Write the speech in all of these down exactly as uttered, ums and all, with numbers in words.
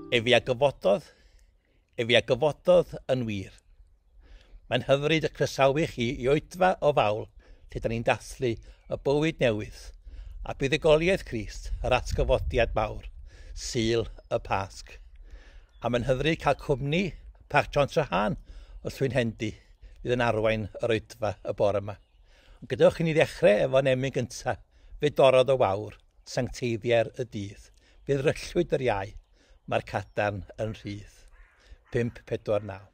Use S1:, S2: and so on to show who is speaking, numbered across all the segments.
S1: Efe a gyfododd, efe a gyfododd yn wir. Mae'n hyfryd y croesawu chi i oedfa o fawl lle da ni'n dathlu y bywyd newydd a buddugoliaeth Crist, yr atgyfodiad mawr, Sul y Pasg. A mae'n hyfryd cael cwmni Parch John Trahan o Llwynhendy fydd yn arwain yr oedfa y bore yma. Ond gadewch i ni ddechrau efo'n emyn gyntaf, fe dorrodd y wawr, sancteiddiau'r y dydd, fe ddryllwyd yr iau, mae'r cadarn yn rhydd. pump pedwar naw.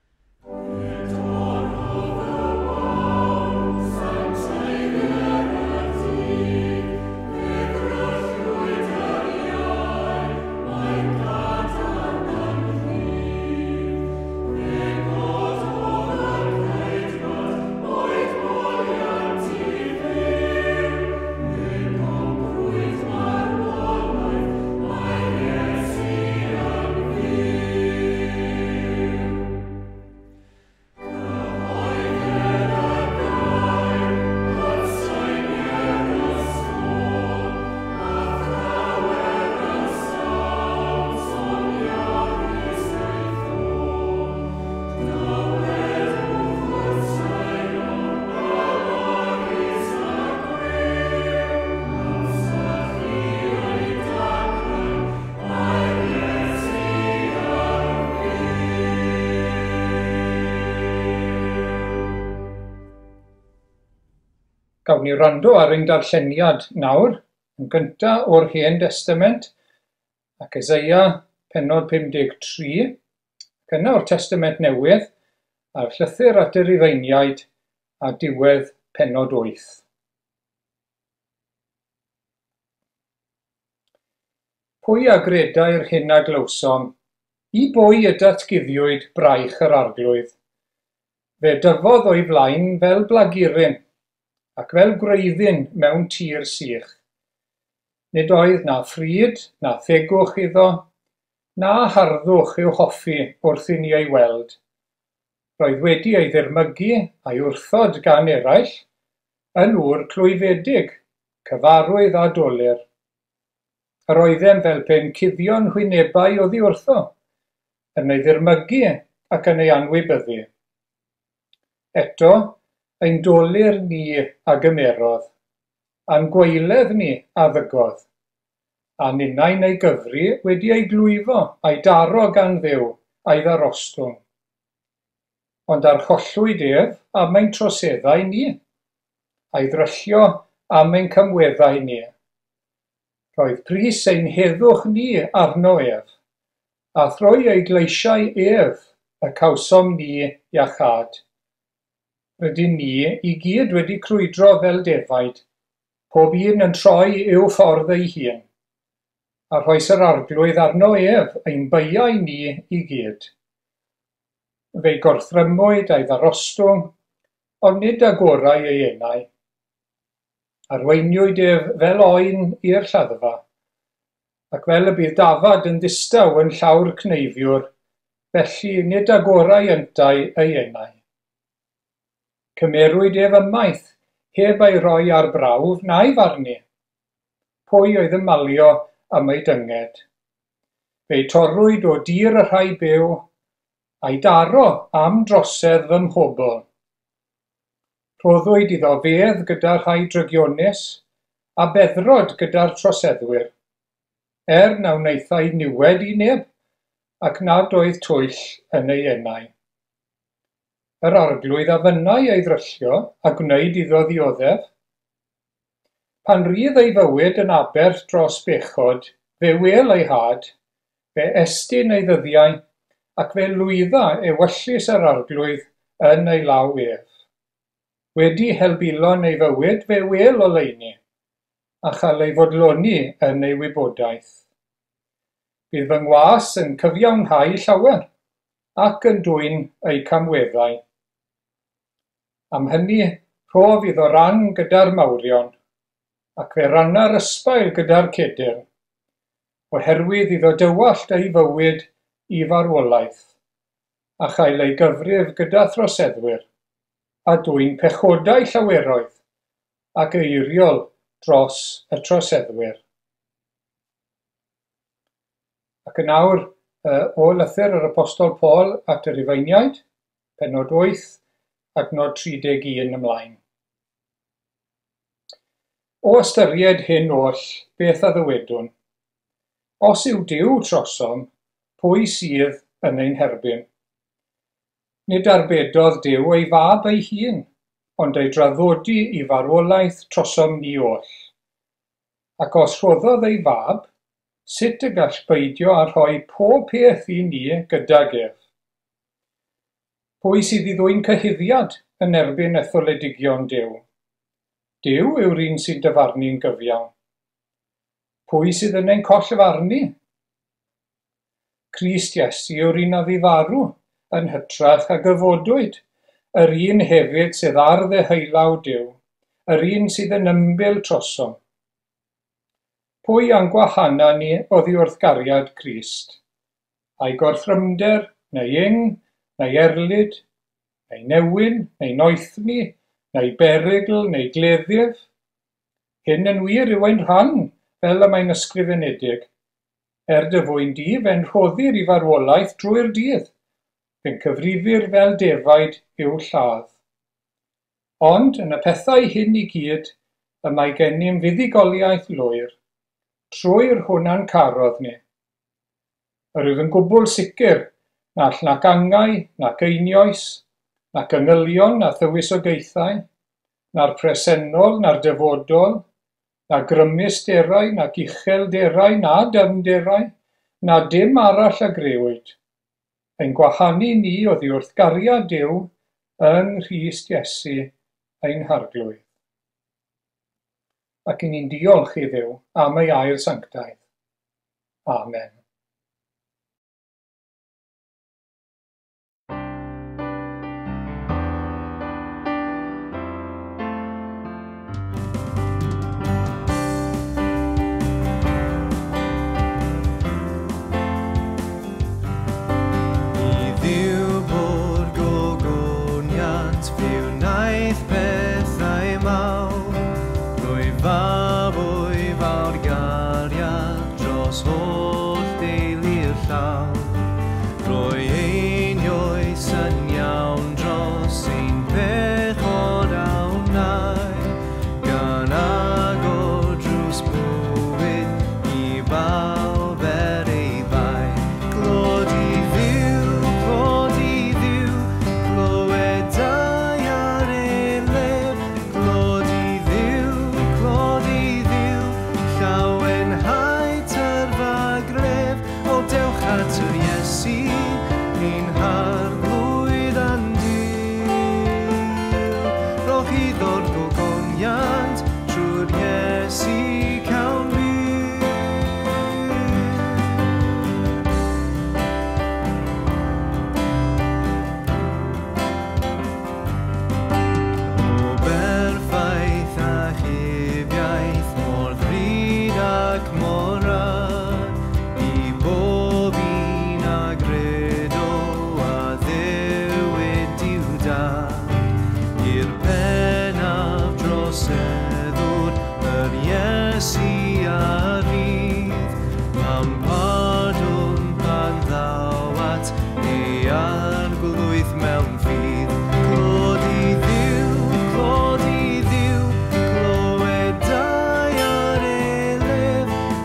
S2: Gawn ni wrando ar ein darlleniad nawr, yn gyntaf o'r Hen Destament, ac Eseia pennod pum deg tri, ac yna o'r Testament Newydd, a'r llythyr at y Rufeiniaid a diwedd pennod wyth. Pwy a gredai'r hyn a glywsom, i bwy y datguddiwyd braich yr arglwydd? Fe dyfodd o'i flaen fel blaguryn, ac fel gwreiddyn mewn tir sych. Nid oedd na phryd, na thegwch iddo, na harddwch i'w hoffi wrth i ni ei weld. Roedd wedi ei ddirmygu a'i wrthod gan eraill, yn ŵr clwyfedig, cyfarwydd a dolur. Yr oeddem fel pe'n cuddio'n hwynebau oddi wrtho, yn ei ddirmygu ac yn ei anwybyddu. Eto, ein dolur ni a gymerodd, a'n gwaeledd ni a ddygodd, a ninnau'n ei gyfri wedi ei glwyfo a'i daro gan Dduw a'i ddarostwng. Ond archollwyd ef am ein troseddau ni, a'i ddryllio am ein cymweddau ni. Roedd pris ein heddwch ni arno ef, a thrwy ei gleisiau ef y cawsom ni iachâd. Rydyn ni i gyd wedi crwydro fel defaid, pob un yn troi i'w ffordd ei hun, a rhoes yr arglwydd arno ef ein beiau ni i gyd. Fe'i gorthrymwyd a'i ddarostwng, ond nid agorau ei enau. Arweiniwyd ef fel oen i'r lladdfa, ac fel y bydd dafad yn ddistaw yn llawr cneifiwr, felly nid agorau yntau ei enau. Cymerwyd ef ymaith, heb ei roi ar brawf na'i farnu. Pwy oedd yn malio am ei dynged? Fe'i torrwyd o dir y rhai byw, a'i daro am drosedd fy mhobl. Rhoddwyd iddo fedd gyda'r rhai drygionus, a beddrod gyda'r troseddwyr, er na wnaethai niwed i neb, ac nad oedd twyll yn ei enau. Yr arglwydd a fynnai ei ddryllio a gwneud iddo ddioddef. Pan rydd ei fywyd yn aberth dros bechod, fe wel ei had, fe estyn ei ddyddiau, ac fe lwydda ewyllys yr arglwydd yn ei law ef. Wedi helbulon ei fywyd, fe wel oleuni, a chael ei fodloni yn ei wybodaeth. Bydd fy ngwas yn cyfiawnhau llawer, ac yn dwyn ei camweddau. Am hynny, rhof iddo ran gyda'r mawrion, ac fe ranna'r ysbail gyda'r cedyrn, oherwydd iddo dywallt ei fywyd i farwolaeth, a chael ei gyfrif gyda throseddwyr, a dwyn pechodau llaweroedd, ac eiriol dros y troseddwyr. Ac yn awr, o lythyr yr Apostol Paul at y Rufeiniaid, pennod wyth, adnod tri deg un ymlaen. O ystyried hyn oll, beth a ddywedwn? Os yw Duw trosom, pwy sydd yn ein herbyn? Nid arbedodd Duw ei fab ei hun, ond ei draddodi i farwolaeth trosom ni oll. Ac os rhoddodd ei fab, sut y gall beidio â rhoi pob peth i ni gydag ef? Pwy sydd i ddwyn cyhuddiad yn erbyn etholedigion Duw? Duw yw'r un sy'n dyfarnu'n gyfiawn. Pwy sydd yn ein collfarnu? Crist Iesu yw'r un a fu farw, yn hytrach a gyfodwyd, yr un hefyd sydd ar ddeheulaw Duw, yr un sydd yn ymbil trosom. Pwy a'n gwahana ni oddi wrth gariad Crist? Ai gorthrymder, neu ing, neu erlid, neu newyn, neu noethni, neu berygl, neu gleddyf? Hyn yn wir yw ein rhan, fel y mae'n ysgrifenedig. Er dy fwyn di, fe'n rhoddir i farwolaeth drwy'r dydd, fe'n cyfrifir fel defaid i'w lladd. Ond yn y pethau hyn i gyd, y mae gennym fuddugoliaeth lwyr, trwy'r hwn a'n carodd ni. Yr wyf yn gwbl sicr na all nac angau, nac einioes, nac angylion, na thywysogaethau, na'r presennol, na'r dyfodol, na grymusderau, nac uchelderau, na dyfnderau, na dim arall a grëwyd, ein gwahanu ni oddi wrth gariad Duw yng Nghrist Iesu ein Harglwydd. Ac i ni'n diolch i Dduw am ei air sanctaidd. Amen.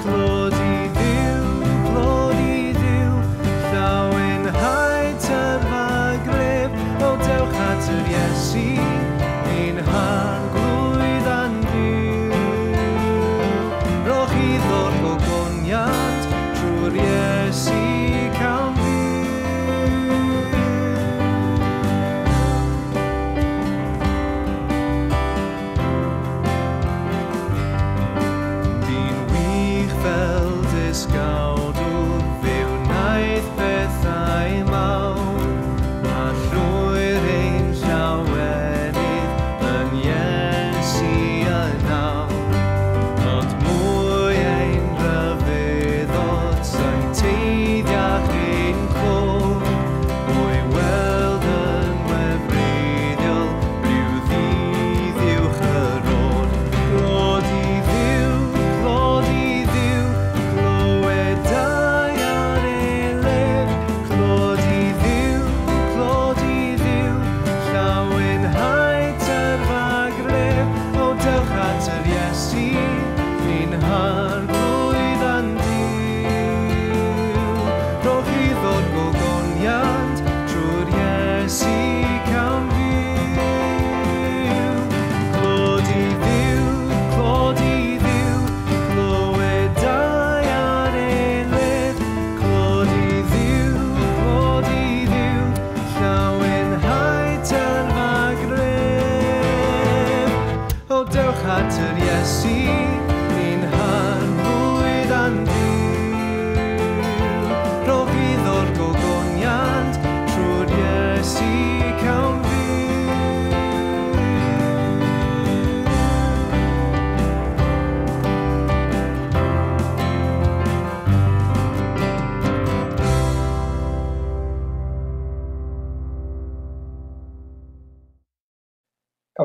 S3: Clod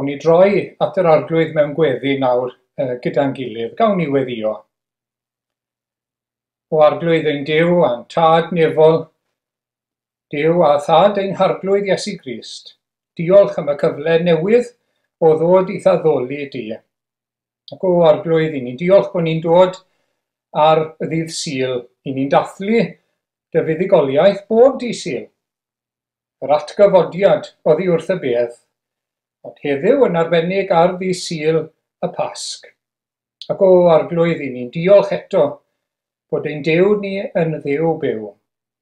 S2: Gawn ni droi at yr Arglwydd mewn gweddi nawr gyda'n gilydd. Gawn ni weddïo. O Arglwydd ein Duw a'n Tad nefol, Duw a Thad ein Harglwydd Iesu Grist, diolch am y cyfle newydd o ddod i'th addoli di. Ac o Arglwydd, i ni'n diolch bod ni'n dod ar ddydd Sul, i ni'n dathlu dy fuddugoliaeth bob dydd Sul. Yr atgyfodiad oddi wrth y bedd, ond heddiw yn arbennig ar ddydd Sul y Pasg. Ac o Arglwydd, i ni'n diolch eto bod ein Duw ni yn Dduw byw,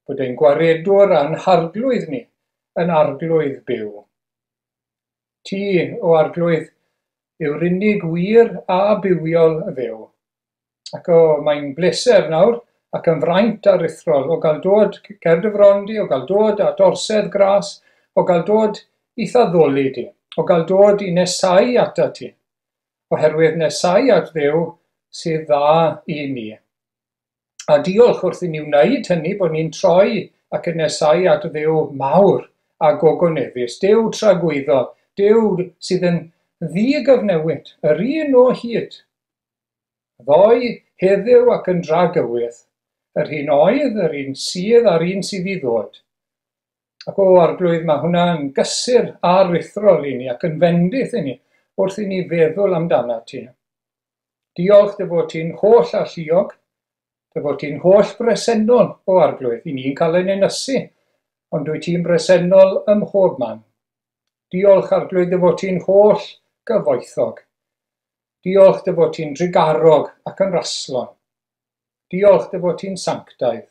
S2: bod ein gwaredwr a'n harglwydd ni yn arglwydd byw. Ti, o Arglwydd, yw'r unig wir a bywiol Dduw. Ac o, mae'n bleser nawr ac yn fraint aruthrol o gael dod ger dy fron di, o gael dod at orsedd gras, o gael dod i'th addoli di, o gael dod i nesau atat ti, oherwydd nesau at Dduw sydd dda i ni. A diolch wrth i ni wneud hynny bod ni'n troi ac yn nesau at Dduw mawr a gogoneddus, Duw tragwyddol, Duw sydd yn ddigyfnewid, yr un o hyd. Ddoe, heddiw ac yn dragywydd, yr un oedd, yr un sydd a'r un sydd i ddod. Ac o Arglwydd, mae hwnna'n gysur aruthrol i ni ac yn fendith i ni wrth i ni feddwl amdano ti. Diolch dy fod ti'n holl alluog, dy fod ti'n holl bresennol o Arglwydd. I ni'n cael ein ynysu, ond dwyt ti'n bresennol ym mhob man. Diolch Arglwydd dy fod ti'n holl gyfoethog. Diolch dy fod ti'n drugarog ac yn raslon. Diolch dy fod ti'n sanctaidd.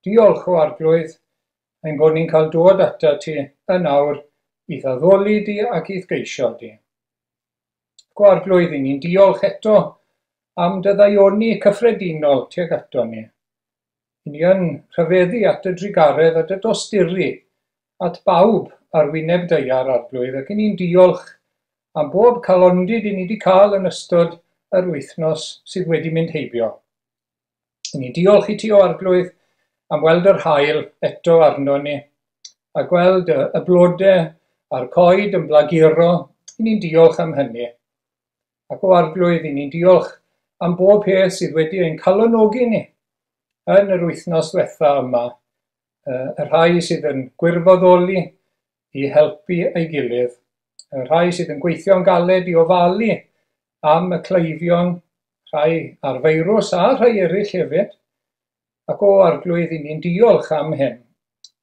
S2: Diolch o Arglwydd, ein bod ni'n cael dod atat ti yn awr i'th addoli di ac i'th geisio di. Go Arglwydd, i ni'n diolch eto am dy ddaioni cyffredinol tuag ato ni. I ni yn rhyfeddu at y drugaredd a dy dosturi at bawb ar wyneb daear Arglwydd, ac i ni'n diolch am bob calondid i ni wedi cael yn ystod yr wythnos sydd wedi mynd heibio. I ni diolch i ti o Arglwydd am weld yr haul eto arno ni, a gweld y, y blodau a'r coed yn blaguro. I ni'n diolch am hynny. Ac o Arglwydd, i ni'n diolch am bob peth sydd wedi ein calonogi ni yn yr wythnos diwetha yma, y rhai sydd yn gwirfoddoli i helpu ei gilydd, y rhai sydd yn gweithio'n galed i ofalu am y cleifion, rhai ar feirws a rhai eraill hefyd. Ac o Arglwydd, i ni'n diolch am hyn.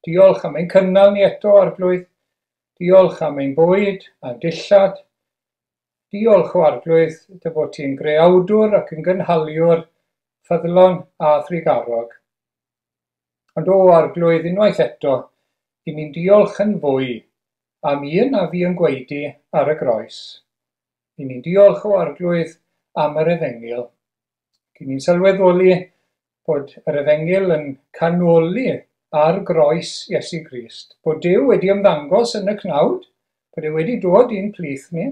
S2: Diolch am ein cynnal ni eto, Arglwydd. Diolch am ein bwyd a'n dillad. Diolch o Arglwydd dy fod ti'n greawdwr ac yn gynhaliwr ffyddlon a thrugarog. Ond o Arglwydd, unwaith eto, i ni'n diolch yn fwy am un a fi yn gwaedu ar y groes. I ni'n diolch o Arglwydd am yr Efengyl. I ni'n sylweddoli bod yr Efengyl yn canoli ar groes Iesu Grist, bod Duw wedi ymddangos yn y cnawd, bod e wedi dod i'n plith ni,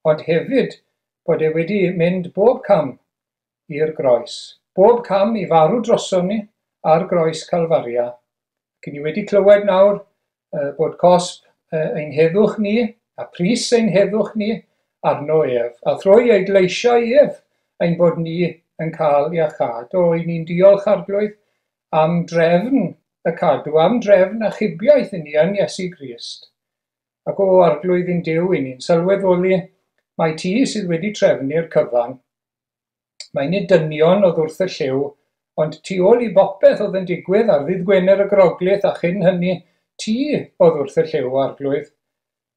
S2: ond hefyd bod e wedi mynd bob cam i'r groes, bob cam i farw droson ni ar groes Calfaria. Ac ni wedi clywed nawr uh, bod cosb uh, ein heddwch ni a pris ein heddwch ni arno ef, a thrwy ei gleisiau ef ein bod ni yn cael iachâd. O, i ni'n diolch Arglwydd am drefn y cadw, am drefn achubiaeth i ni yn Iesu Grist. Ac o Arglwydd ein Duw, i ni'n sylweddoli mai ti sydd wedi trefnu'r cyfan. Mae nid dynion oedd wrth y llyw, ond tu ôl i bopeth oedd yn digwydd ar ddydd Gwener y Groglith a chyn hynny, ti oedd wrth y llyw, Arglwydd,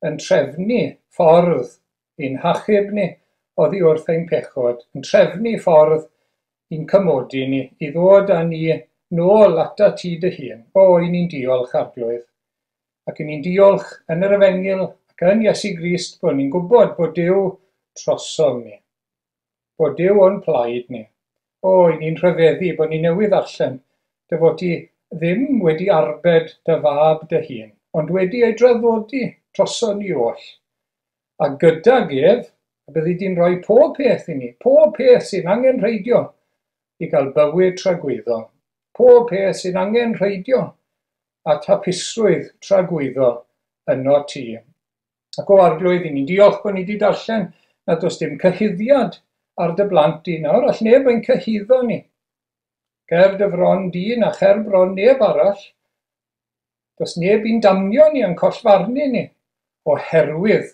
S2: yn trefnu ffordd i'n hachub ni oddi wrth ein pechod, yn trefnu ffordd i'n cymodi ni, i ddod â ni nôl ata ti dy hun. O, i ni'n diolch, Arglwydd. Ac i ni'n diolch yn yr Efengyl ac yn Iesu Grist bod ni'n gwybod bod Duw trosom ni, bod Duw o'n plaid ni. O, i ni'n rhyfeddu bod ni newydd ddarllen dy fod ti ddim wedi arbed dy fab dy hun, ond wedi ei draddodi droson ni oll. A gydag ef, byddi di'n rhoi pob peth i ni, pob peth sy'n angenrheidiol i gael bywyd tragwyddol, pob peth sy'n angenrheidiol at hapusrwydd tragwyddol yno ti. Ac o Arglwydd, i ni'n diolch bod ni wedi darllen nad oes dim cyhuddiad ar dy blant di nawr, all neb ein cyhuddo ni. Ger dy fron di na cher bron neb arall, does neb i'n damnio ni yn collfarnu ni, oherwydd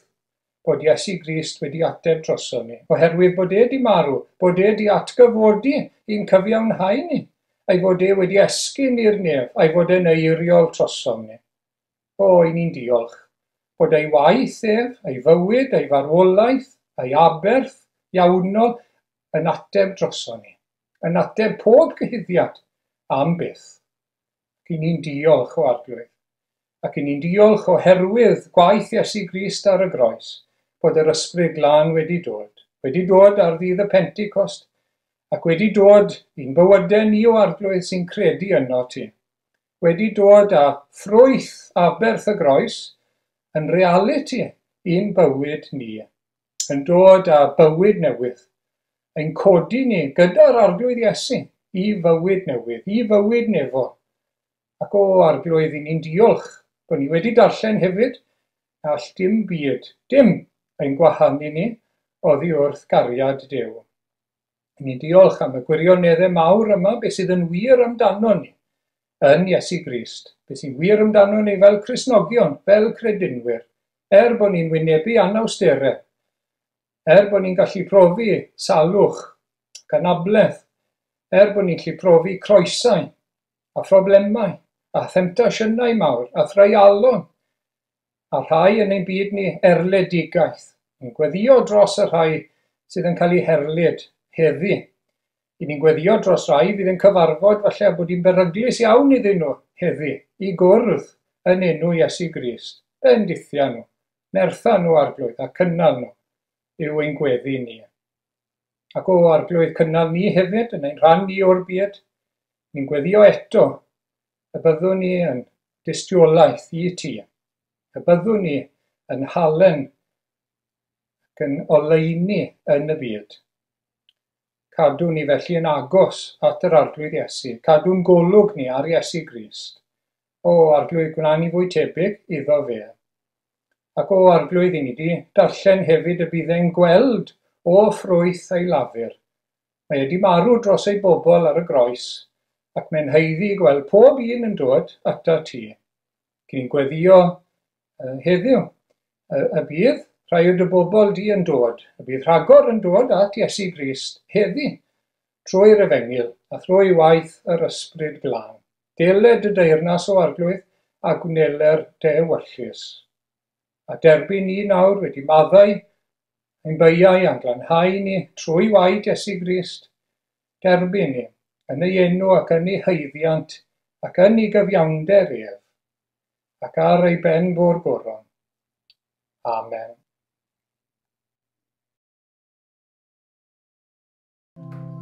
S2: bod Iesu Grist wedi ateb droson ni, oherwydd bod e di marw, bod e di atgyfodi i'n cyfiawnhau ni, a'i fod e wedi esgyn i'r nef, a'i fod e'n eiriol drosom ni. O, i ni'n diolch bod ei waith ef, ei fywyd, ei farwolaeth, ei aberth iawnol yn ateb droson ni, yn ateb pob cyhuddiad am byth. Ac i ni'n diolch o Arglwydd. Ac i ni'n diolch oherwydd gwaith Iesu Grist ar y groes, bod yr Ysbryd Glân wedi dod, wedi dod ar ddydd y Pentecost, ac wedi dod i'n bywydau ni o Arglwydd sy'n credu yno ti. Wedi dod â ffrwyth aberth y groes yn realiti i'n bywyd ni, yn dod â bywyd newydd, ein codi ni gyda'r Arglwydd Iesu i fywyd newydd, i fywyd nefol. Ac o Arglwydd, i ni'n diolch bod ni wedi darllen hefyd all dim byd, dim ein gwahanu ni oddi wrth gariad Duw. Ni'n diolch am y gwirioneddau mawr yma, beth sydd yn wir amdano ni yn Iesu Grist, beth sy'n wir amdano ni fel Cristnogion, fel credinwyr, er bod ni'n wynebu anawsterau, er bod ni'n gallu profi salwch ac anabledd, er bod ni'n gallu profi croesau a phroblemau a themtasiynau mawr a threialon, a rhai yn ein byd ni erledigaeth, yn gweddio dros y rhai sydd yn cael eu herlid heddi. I ni'n gweddio dros rai fydd yn cyfarfod falle bod hi'n beryglus iawn iddyn nhw heddi, i gwrdd yn enw Iesu Grist. Bendithia nhw, nertha nhw Arglwydd a cynnal nhw yw ein gweddi ni. Ac o Arglwydd, cynnal ni hefyd yn ein rhan ni o'r byd. Ni'n gweddio eto y byddwn ni yn dystiolaeth i ti, y byddwn ni yn halen ac yn oleuni yn y byd. Cadw ni felly yn agos at yr Arglwydd Iesu, cadw'n golwg ni ar Iesu Grist. O Arglwydd, gwna ni fwy tebyg iddo fe. Ac o Arglwydd, i ni di darllen hefyd y bydd e'n gweld o ffrwyth ei lafur. Mae wedi marw dros ei bobl ar y groes, ac mae'n haeddu gweld pob un yn dod ata ti. Cyn gweddio uh, heddiw, y, y bydd rhai o dy bobl di yn dod, y bydd rhagor yn dod at Iesu Grist heddi, trwy'r Efengyl a thrwy waith yr Ysbryd Glân. Deled y deyrnas o Arglwydd a gwneler dy ewyllys. A derbyn ni nawr wedi maddau ein beiau a'n glanhau ni trwy waed Iesu Grist. Derbyn ni yn ei enw ac yn ei haeddiant ac yn ei gyfiawnder ef, ac ar ei ben bo'r goron. Amen.
S3: Alleluia.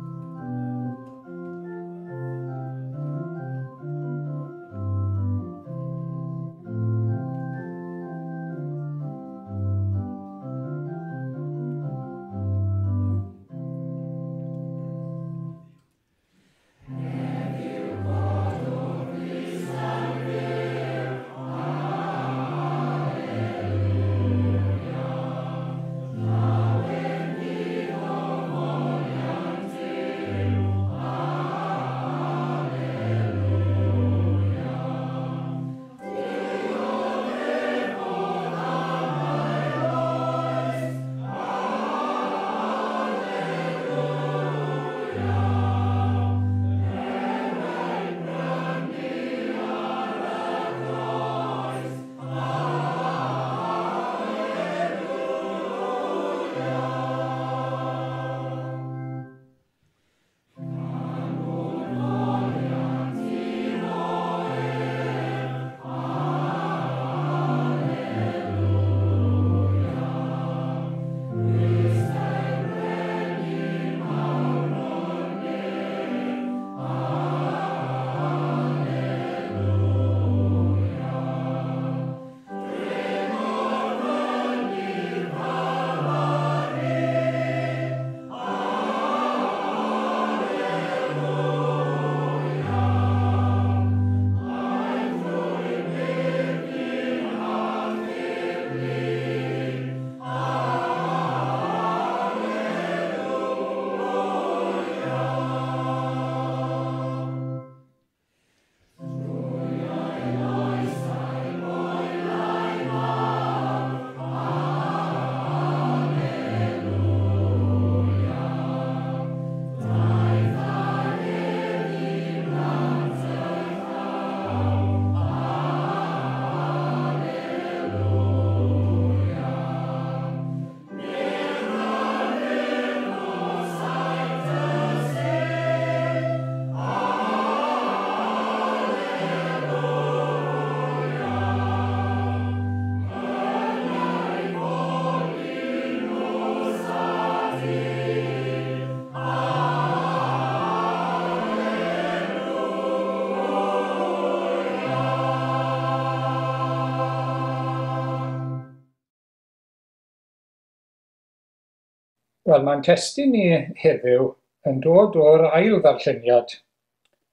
S2: Wel, mae'n testun ni heddiw yn dod o'r ail ddarlleniad,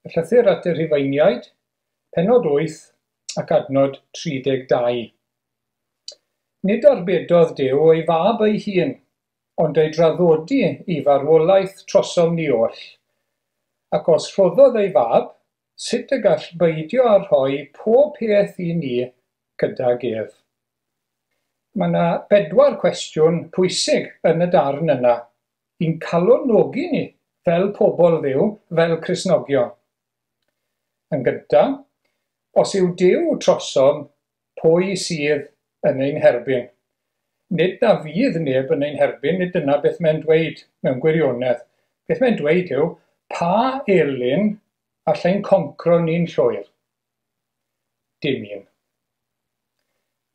S2: y llythyr at y Rhufeiniaid, pennod wyth ac adnod tri deg dau. Nid arbedodd Duw ei fab ei hun, ond ei draddodi i farwolaeth trosom ni oll. Ac os rhoddodd ei fab, sut y gall beidio â rhoi pob peth i ni gydag ef? Mae yna bedwar cwestiwn pwysig yn y darn yna, i'n calonogi ni fel pobl Dduw, fel Cristnogion. Yn gyntaf, os yw Duw trosom, pwy sydd yn ein herbyn? Nid na fydd neb yn ein herbyn, nid dyna beth mae'n dweud mewn gwirionedd. Beth mae'n dweud yw, pa elyn allai'n concro ni'n llwyr? Dim un.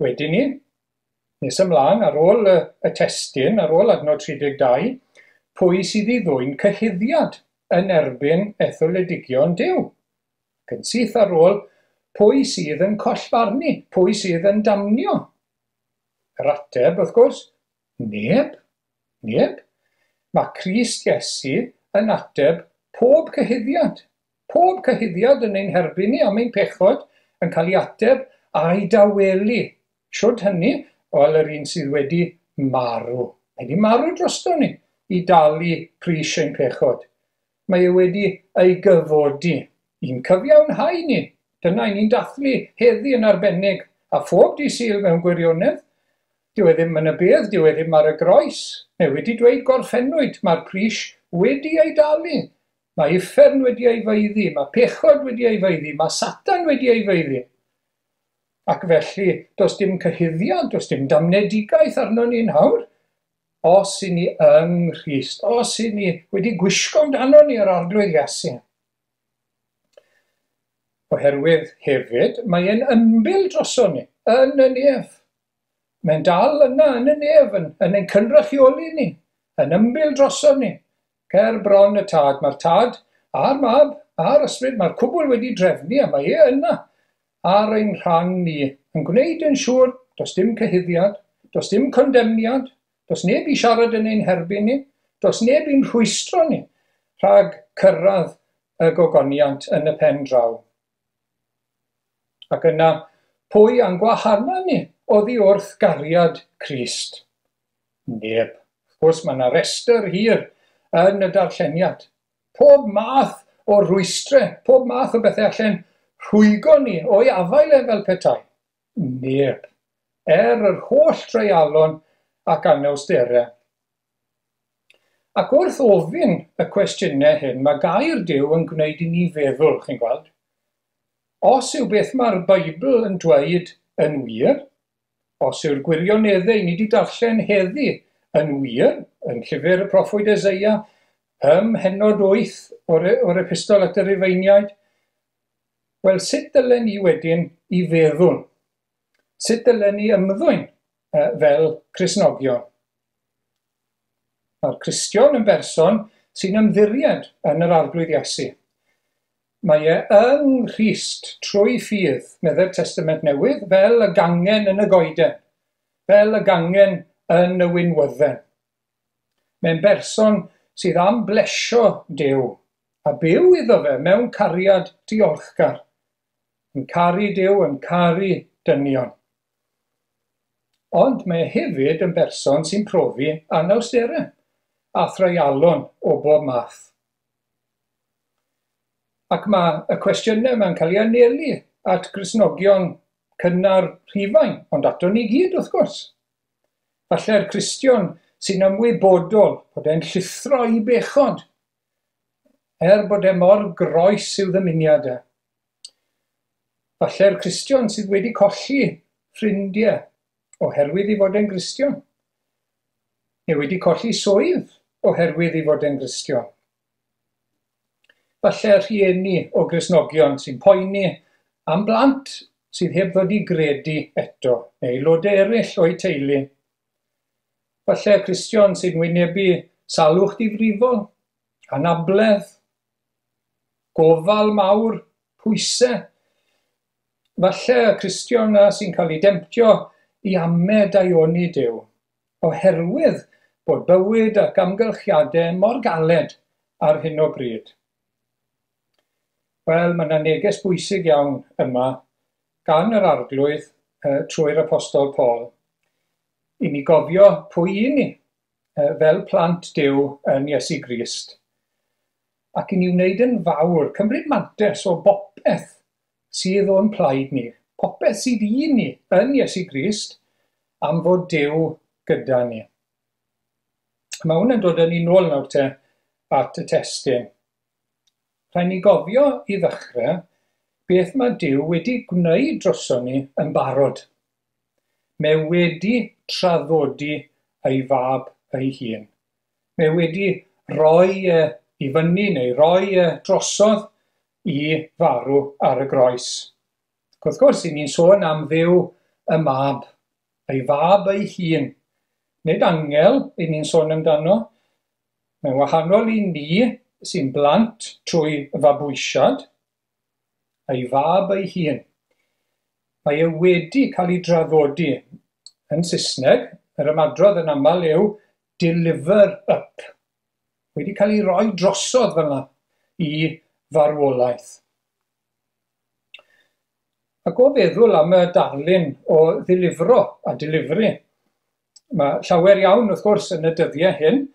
S2: Wedyn ni, nes ymlaen, ar ôl y, y testun, ar ôl adnod tri deg dau, pwy sydd i ddwyn cyhuddiad yn erbyn etholedigion Duw? Ac yn syth ar ôl, pwy sydd yn collfarnu? Pwy sydd yn damnio? Yr ateb, wrth gwrs, neb, neb. Mae Crist Iesu yn ateb pob cyhuddiad. Pob cyhuddiad yn ein herbyn ni am ein pechod yn cael ei ateb a'i dawelu. Shwd hynny? Wel, yr un sydd wedi marw. Mae wedi marw drosto ni i dalu pris ein pechod. Mae e wedi ei gyfodi i'n cyfiawnhau ni. Dyna i ni'n dathlu heddi yn arbennig, a phob dydd Sul mewn gwirionedd. Dyw e ddim yn y bedd, dyw e ddim ar y groes. Mae wedi dweud gorffennwyd, mae'r pris wedi ei dalu. Mae uffern wedi ei faeddu, mae pechod wedi ei faeddu, mae Satan wedi ei faeddu. Ac felly, does dim cyhuddiad, does dim damnedigaeth arno ni'n hawr. Os i ni yng Nghrist, os i ni wedi gwisgo amdano ni yr Arglwydd Iesu. Oherwydd hefyd, mae e'n ymbil droson ni, yn y nef. Mae'n dal yna yn y nef, yn, yn ein cynrychioli ni, yn ymbil droson ni. Ger bron y tad, mae'r tad a'r mab a'r ysbryd, mae'r cwbl wedi drefnu a mae e yna ar ein rhan ni, yn gwneud yn siŵr, does dim cyhuddiad, does dim condemniad, does neb i siarad yn ein herbyn ni, does neb i'n rhwystro ni rhag cyrraedd y gogoniant yn y pen draw. Ac yna, pwy a'n gwahana ni oddi wrth gariad Crist? Neb. Wrth gwrs, mae yna restr hir yn y darlleniad. Pob math o rwystre, pob math o bethau allan rhwygo ni o'i afael e fel petai. Neb. Er yr holl dreialon ac anawsterau. Ac wrth ofyn y cwestiynau hyn, mae gair Duw yn gwneud i ni feddwl, chi'n gweld. Os yw beth mae'r Beibl yn dweud yn wir, os yw'r gwirioneddau ni wedi darllen heddi yn wir, yn llyfr y proffwyd Eseia, ym mhennod wyth o'r, o'r epistol at y Rhufeiniaid, wel, sut dylen ni wedyn i feddwl? Sut dylen ni ymddwyn fel Cristnogion? Mae'r Cristion yn berson sy'n ymddiried yn yr Arglwydd Iesu. Mae e yng Nghrist trwy ffydd, meddai'r Testament Newydd, fel y gangen yn y goeden, fel y gangen yn y winwydden. Mae'n berson sydd am blesio Duw a byw iddo fe mewn cariad diolchgar, yn caru Duw, yn caru dynion. Ond mae e hefyd yn berson sy'n profi anawsterau a threialon o bob math. Ac mae y cwestiynau yma'n cael ei anelu at Gristnogion cynnar Rhufain, ond ato ni gyd wrth gwrs. Falle'r Cristion sy'n ymwybodol bod e'n llithro i bechod, er bod e mor groes i'w ddymuniad e. Falle'r Cristion sydd wedi colli ffrindiau oherwydd i fod e'n Gristion, neu wedi colli swydd oherwydd i fod e'n Gristion. Falle rhieni o Gristnogion sy'n poeni am blant sydd heb ddod i gredu eto, neu aelodau eraill o'u teulu. Falle Cristion sy'n wynebu salwch difrifol, anabledd, gofal mawr, pwysau. Falle Cristion na sy'n cael ei demtio i ame daioni Duw, oherwydd bod bywyd ac amgylchiadau mor galed ar hyn o bryd. Wel, mae yna neges bwysig iawn yma gan yr Arglwydd uh, trwy'r Apostol Paul. I ni gofio pwy i ni uh, fel plant Duw yn Iesu Grist. Ac i ni wneud yn fawr, cymryd mantais o bopeth sydd o'n plaid ni, popeth sydd i ni yn Iesu Grist, am fod Duw gyda ni. Mae hwn yn dod â ni nôl nawr te at y testun. Rhaid ni gofio i ddechrau beth mae Duw wedi gwneud droson ni yn barod. Mae wedi traddodi ei fab ei hun. Mae wedi rhoi e i fyny neu roi e drosodd i farw ar y groes. Ac wrth gwrs, i ni'n sôn am Dduw y mab, ei fab ei hun. Nid angel i ni'n sôn amdano. Mae'n wahanol i ni sy'n blant trwy fabwysiad, ei fab ei hun. Mae e wedi cael ei draddodi. Yn Saesneg, yr ymadrodd yn aml yw deliver up. Wedi cael ei roi drosodd fel yna i farwolaeth. Ac o feddwl am y darlun o ddilifro a delivery, mae llawer iawn wrth gwrs yn y dyddiau hyn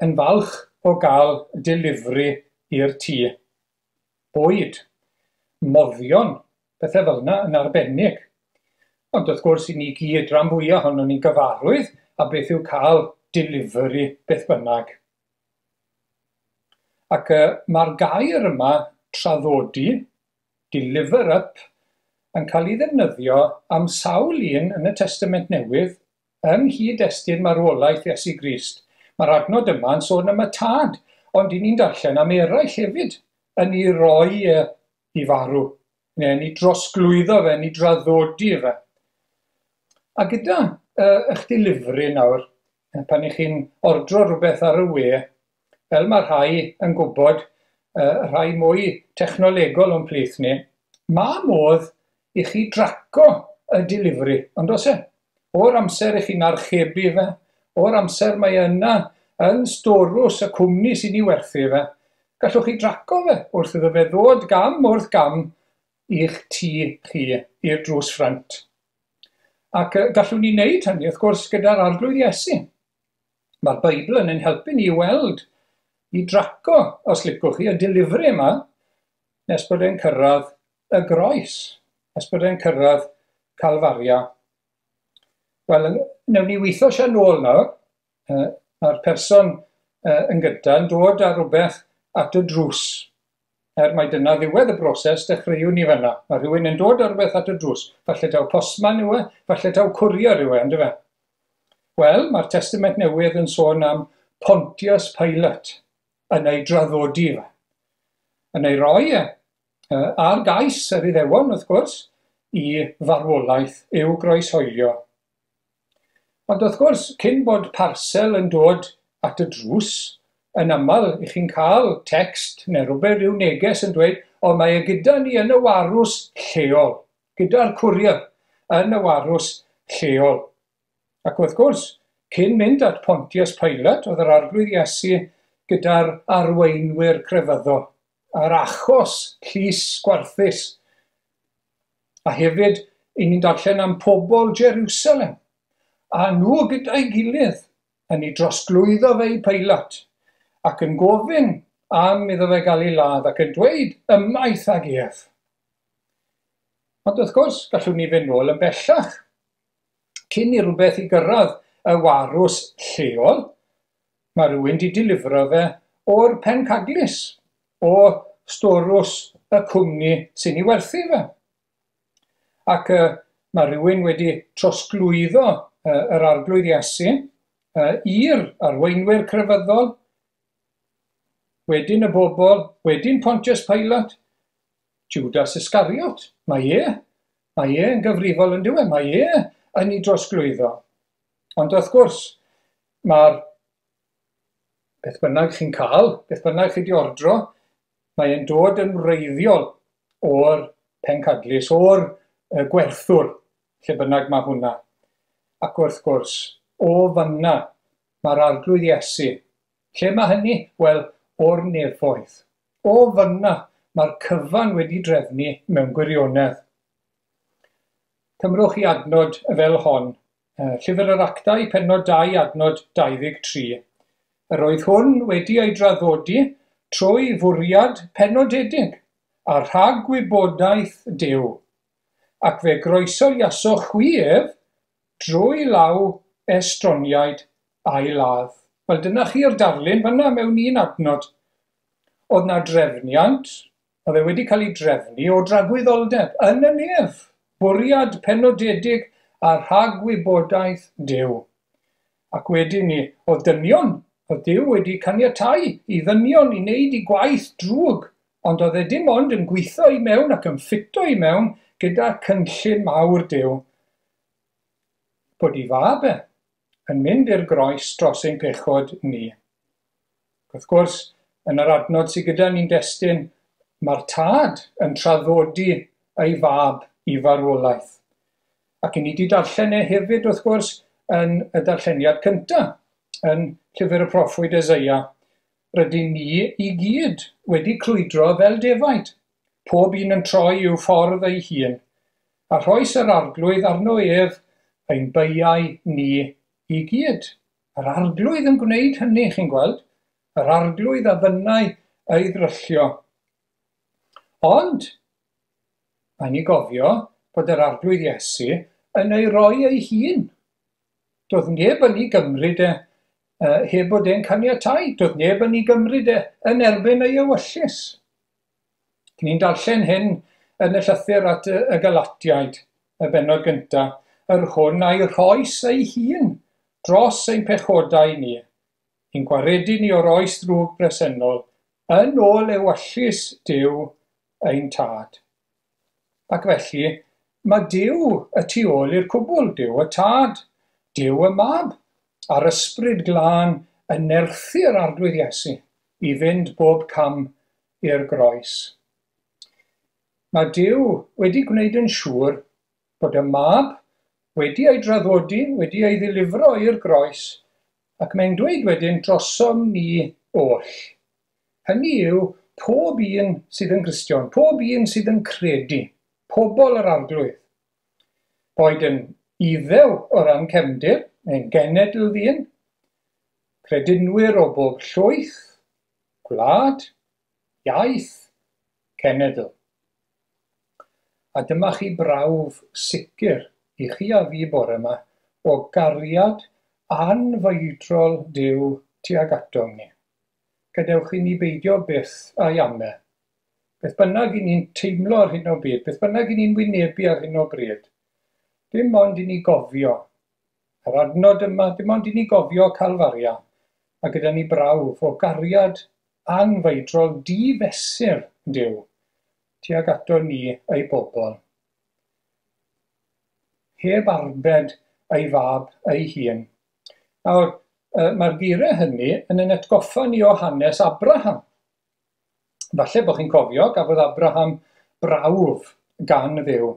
S2: yn falch o gael delivery i'r tŷ. Bwyd, moddion, pethau fel yna yn arbennig. Ond wrth gwrs i ni gyd rhan fwyaf ohonon ni'n gyfarwydd a beth yw cael delivery beth bynnag. Ac uh, mae'r gair yma, traddodi, deliver up, yn cael ei ddefnyddio am sawl un yn y Testament Newydd yng nghyd-destun marwolaeth Iesu Grist. Mae'r adnod yma yn sôn am y tad, ond i ni'n darllen am eraill hefyd yn ei roi e i farw, neu yn ei drosglwyddo fe, yn ei draddodi fe. A gyda uh, eich delivery nawr, pan ych chi'n ordro rhywbeth ar y we, fel mae rhai yn gwybod, uh, rhai mwy technolegol o'n plith ni, mae modd i chi draco y delivery, ond oes e? O'r amser i chi'n archebu fe, o'r amser mae yna yn storws y cwmni sy'n ei werthu fe, gallwch chi draco fe wrth iddo fe ddod gam wrth gam i'ch tŷ chi, i'r drws ffrynt. Ac gallwn ni wneud hynny, wrth gwrs, gyda'r Arglwydd Iesu. Mae'r Beibl yn ein helpu ni i weld, i draco, os licwch chi, y delivery yma, nes bod e'n cyrraedd y groes, nes bod e'n cyrraedd Calfaria. Wel, newn ni weithio siarad nôl nawr. Mae'r person yn gyda yn dod â rhywbeth at y drws. Er mai dyna ddiwedd y broses, dechreuwn ni fanna. Mae rhywun yn dod â rhywbeth at y drws. Falle taw postman yw e, falle taw courier yw e, yndyfe? Wel, mae'r Testament Newydd yn sôn am Pontius Pilate yn ei draddodi fe. Yn ei roi e, ar gais yr Iddewon, wrth gwrs, i farwolaeth i'w groeshoelio. Ond wrth gwrs, cyn bod parsel yn dod at y drws, yn aml i chi'n cael text neu rhywbeth, rhyw neges yn dweud, o mae e gyda ni yn y warws lleol, gyda'r courier yn y warws lleol. Ac wrth gwrs, cyn mynd at Pontius Pilate, oedd yr Arglwydd Iesu gyda'r arweinwyr crefyddol, a'r achos llys gwarthus. A hefyd, i ni'n darllen am pobl Jerusalem, a nhw gyda'i gilydd yn ei drosglwyddo fe i Pilate, ac yn gofyn am iddo fe gael ei ladd, ac yn dweud ymaith ag ef. Ond wrth gwrs, gallwn ni fynd nôl yn bellach. Cyn i rhywbeth i gyrraedd y warws lleol, mae rhywun wedi delifro fe o'r pencadlys, o storws y cwmni sy'n ei werthu fe. Ac uh, mae rhywun wedi trosglwyddo uh, yr Arglwydd Iesu uh, i'r arweinwyr crefyddol, wedyn y bobl, wedyn Pontius Pilate, Judas Iscariot. Mae e, mae e yn gyfrifol yn diwedd, mae e yn ei drosglwyddo. Ond wrth gwrs, mae'r beth bynnag chi'n cael, beth bynnag chi wedi ordro, mae e'n dod yn wreiddiol o'r pencadlys, o'r gwerthwr, lle bynnag mae hwnna. Ac wrth gwrs, o fanna Mae'r Arglwydd Iesu. Lle mae hynny? Wel, o'r nefoedd. O fyna, mae'r cyfan wedi drefnu mewn gwirionedd. Cymrwch i adnod fel hon. Llyfr yr Actau, pennod dau, adnod dau ddeg tri. Yr oedd hwn wedi ei draddodi trwy fwriad penodedig a rhagwybodaeth Duw, ac fe groesoiasoch chwi ef drwy law estroniaid a'i ladd. Wel, dyna chi'r darlun fyna mewn un adnod. Oedd na drefniant, oedd e wedi cael ei drefnu o dragwyddoldeb yn y nef, bwriad penodedig a rhagwybodaeth Duw. Ac wedyn ni, oedd dynion, oedd Duw wedi caniatáu i ddynion i wneud i gwaith drwg, ond oedd e dim ond yn gweithio i mewn ac yn ffito i mewn gyda cynllun mawr Duw. Bod ei fab e yn mynd i'r groes dros ein pechod ni. Wrth gwrs, yn yr adnod sydd gyda ni'n destun, mae'r tad yn traddodi ei fab i farwolaeth. Ac i ni wedi darllen e hefyd, wrth gwrs, yn y darlleniad cyntaf, yn llyfr y proffwyd Eseia. Rydyn ni i gyd wedi crwydro fel defaid, pob un yn troi i'w ffordd ei hun, a rhoes yr Arglwydd arno ef ein beiau ni i gyd. Yr Arglwydd yn gwneud hynny, chi'n gweld, yr Arglwydd a fynnai ei ddryllio. Ond, mae'n i gofio bod yr Arglwydd Iesu yn ei roi ei hun. Doedd neb yn ei gymryd e uh, heb bod e'n caniatáu. Doedd neb yn ei gymryd e yn erbyn ei ewyllys. Ni'n darllen hyn yn y llythyr at y, y Galatiaid, y bennod gyntaf, yr hwn a'i rhoes ei hun dros ein pechodau ni, i'n gwaredu ni o'r oes ddrwg bresennol, yn ôl ewyllys Duw ein tad. Ac felly, mae Duw y tu ôl i'r cwbl, Duw y tad, Duw y mab, a'r ysbryd glân yn nerthu'r Arglwydd Iesu i fynd bob cam i'r groes. Mae Duw wedi gwneud yn siŵr bod y mab wedi ei draddodi, wedi ei ddilifro i'r groes, ac mae'n dweud wedyn drosom ni oll. Hynny yw pob un sydd yn Gristion, pob un sydd yn credu, pobl yr Arglwydd. Boed yn Iddew o ran cefndir, neu'n genedl ddyn, credinwyr o bob llwyth, gwlad, iaith, cenedl. A dyma chi brawf sicr i chi a fi bore yma o gariad anfeidrol Duw tuag atom ni. Gadewch i ni beidio byth a'i ame. Beth bynnag i ni'n teimlo ar hyn o bryd, beth bynnag i ni'n wynebu ar hyn o bryd, dim ond i ni gofio. Yr adnod yma, dim ond i ni gofio Calfaria, a gyda ni brawf o gariad anfeidrol difesur Duw tuag ato ni ei bobl. Heb arbed ei fab ei hun. Nawr, mae'r geiriau hynny yn ein atgoffa ni o hanes Abraham. Falle bod chi'n cofio, gafodd Abraham brawf gan Dduw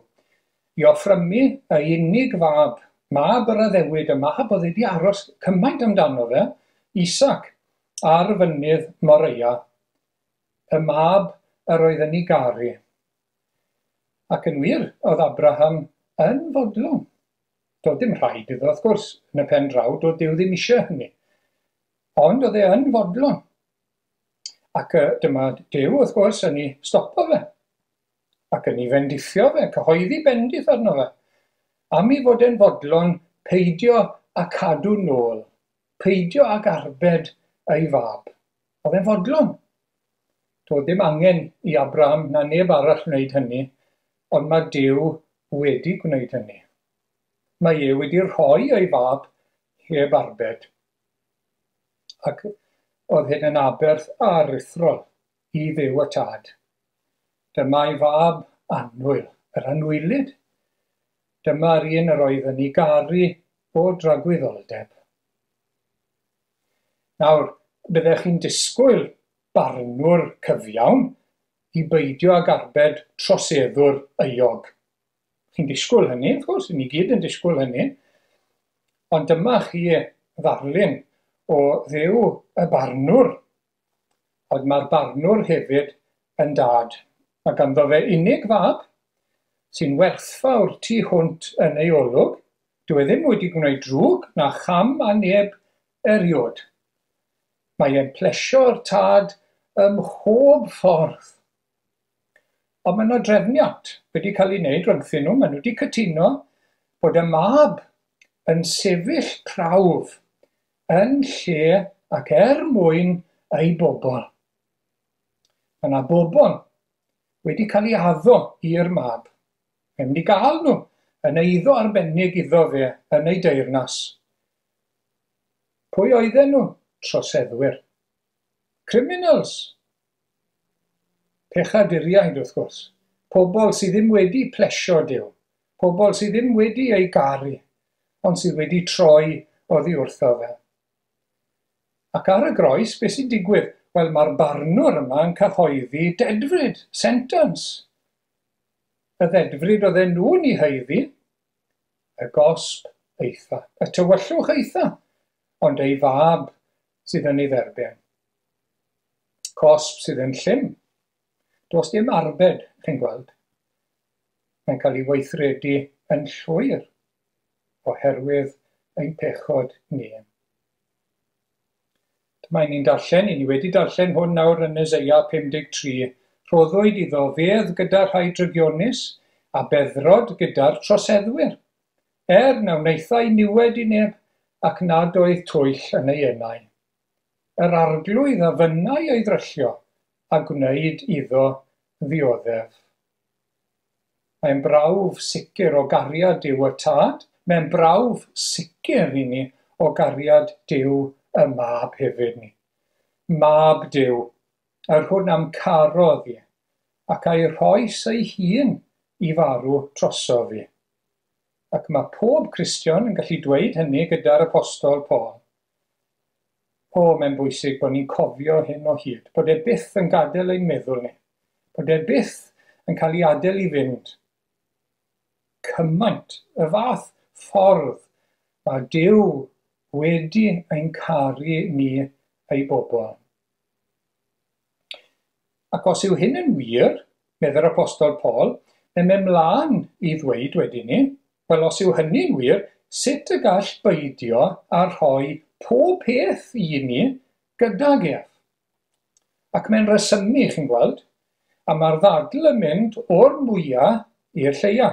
S2: i offrymu ei unig fab, mab yr addewid, y mab oedd wedi aros cymaint amdano fe, Isaac, ar fynydd Moreia, y mab yr oedd yn ei garu. Ac yn wir, oedd Abraham yn fodlon. Doedd dim rhaid iddo, wrth gwrs, yn y pen draw, doedd Duw ddim eisiau hynny. Ond oedd e yn fodlon. Ac dyma Duw, wrth gwrs, yn ei stopo fe. Ac yn ei fendithio fe, cyhoeddi bendith arno fe. Am ei fod e'n fodlon, peidio a cadw nôl, peidio ag arbed ei fab. Oedd e'n fodlon. Doedd dim angen i Abraham na neb arall wneud hynny, ond mae Duw wedi gwneud hynny. Mae e wedi rhoi ei fab heb arbed. Ac oedd hyn yn aberth aruthrol i Dduw y Tad. Dyma ei fab annwyl, yr anwylyd. Dyma'r un yr oedd yn ei garu o dragwyddoldeb. Nawr, byddech chi'n disgwyl barnwr cyfiawn i beidio ag arbed troseddwr euog. Chi'n disgwyl hynny, wrth gwrs, ni gyd yn disgwyl hynny. Ond dyma chi ddarlun o Dduw y barnwr, ond mae'r barnwr hefyd yn dad. Mae ganddo fe unig fab sy'n werthfawr tu hwnt yn ei olwg. Dyw e ddim wedi gwneud drwg na cham a neb eriod. Mae e'n plesio'r tad ym mhob ffordd. Ond mae yna drefniant wedi cael ei wneud rhyngthyn nhw. Maen nhw wedi cytuno bod y mab yn sefyll prawf yn lle ac er mwyn ei bobl. Mae yna bobl wedi cael ei addo i'r mab. Mae'n mynd i gael nhw yn eiddo arbennig iddo fe yn ei deyrnas. Pwy oedden nhw? Troseddwyr. Criminals. Pechaduriaid, wrth gwrs. Pobl sydd ddim wedi plesio Duw. Pobl sydd ddim wedi ei garu, ond sydd wedi troi oddi wrtho fe. Ac ar y groes, beth sy'n digwydd? Wel, mae'r barnwr yma yn cyhoeddi dedfryd, sentence. Y ddedfryd oedden nhw'n ei haeddu, y gosb eitha, y tywyllwch eitha, ond ei fab sydd yn ei dderbyn. Cosb sydd yn llym. Does dim arbed, chi'n gweld. Mae'n cael ei weithredu yn llwyr oherwydd ein pechod ni. Dyma ni'n darllen, i ni wedi darllen hwn nawr yn Eseia pum deg tri. Rhoddwyd iddo fedd gyda rhai drygionus a beddrod gyda'r troseddwyr, er na wnaethai niwed i neb ac nad oedd twyll yn ei enau. Yr arglwydd a fynnai ei ddryllio a gwneud iddo ddioddef. Mae'n brawf sicr o gariad Duw y Tad, mae'n brawf sicr i ni o gariad Duw y Mab hefyd ni. Mab Duw, yr hwn am carodd i, ac a'i rhoes ei hun i farw drosof fi. Ac mae pob Cristion yn gallu dweud hynny gyda'r Apostol Paul. O, mae'n bwysig bod ni'n cofio hyn o hyd, bod e byth yn gadael ein meddwl ni, bod e byth yn cael ei adael i fynd. Cymaint, y fath ffordd mae Duw wedi ein caru ni ei bobl. Ac os yw hyn yn wir, meddai'r Apostol Paul, mae'n mynd mlaen i ddweud wedyn ni, wel os yw hynny'n wir, sut y gall beidio a rhoi pob peth i ni gydag ef? Ac mae'n rhesymu, chi'n gweld, a mae'r ddadl yn mynd o'r mwyaf i'r lleia.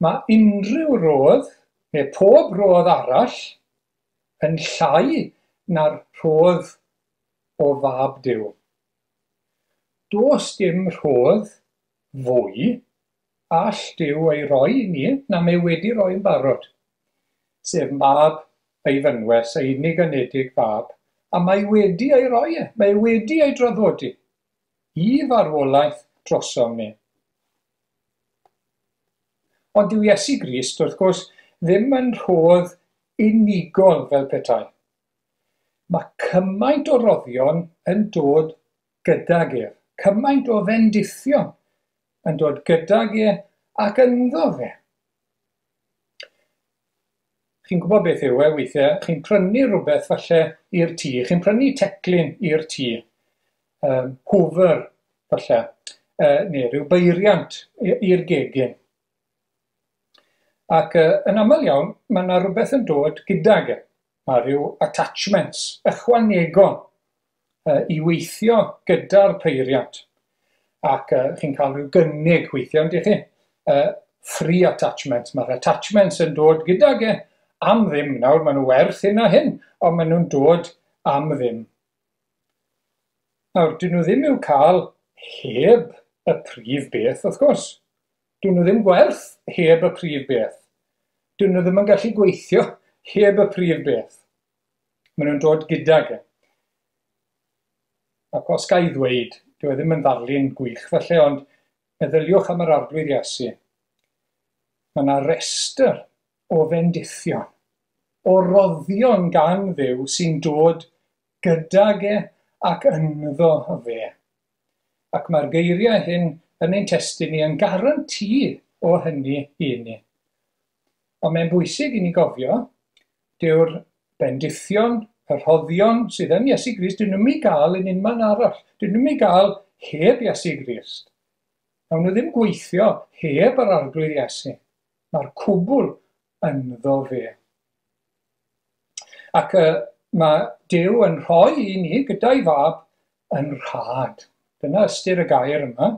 S2: Mae unrhyw rodd, neu pob rodd arall, yn llai na'r rhodd o fab Duw. Does dim rhodd fwy all Duw ei roi i ni na mae wedi roi yn barod, sef mab ei fynwes, ei unig anedig fab, a mae wedi ei roi e, mae wedi ei draddodi i farwolaeth drosom ni. Ond dyw Iesu Grist, wrth gwrs, ddim yn rhodd unigol fel petai. Mae cymaint o roddion yn dod gydag ef, cymaint o fendithion yn dod gydag e ac ynddo fe. Chi'n gwybod beth yw e weithiau, chi'n prynu rhywbeth falle i'r tŷ, chi'n prynu teclyn i'r tŷ, um, hoover falle, uh, neu rhyw beiriant i'r gegin. Ac uh, yn aml iawn, mae yna rhywbeth yn dod gydag e. Mae rhyw attachments ychwanegol uh, i weithio gyda'r peiriant. Ac uh, chi'n cael rhyw gynnig weithiau, yndych chi? Uh, free attachments. Mae'r attachments yn dod gydag e am ddim. Nawr, maen nhw werth hyn a hyn, ond maen nhw'n dod am ddim. Nawr, dyn nhw ddim i'w cael heb y prif beth, wrth gwrs. Dyn nhw ddim gwerth heb y prif beth. Dyn nhw ddim yn gallu gweithio heb y prif beth. Maen nhw'n dod gydag e. Ac os ga i ddweud, dyw e ddim yn ddarlun gwych falle, ond meddyliwch am yr Arglwydd Iesu. Mae yna restr o fendithion, o roddion gan Dduw sy'n dod gydag e ac ynddo fe. Ac mae'r geiriau hyn yn ein testun ni yn garanti o hynny i ni. Ond mae'n bwysig i ni gofio, dyw'r Bendithion, y rhoddion sydd yn Iesu Grist, dyn nhw'm i gael yn unman arall. Dyn nhw'm i gael heb Iesu Grist. Nawn nhw ddim gweithio heb yr Arglwydd Iesu. Mae'r cwbl ynddo fe. Ac uh, mae Duw yn rhoi i ni gyda'i fab yn rhad. Dyna ystyr y gair yma.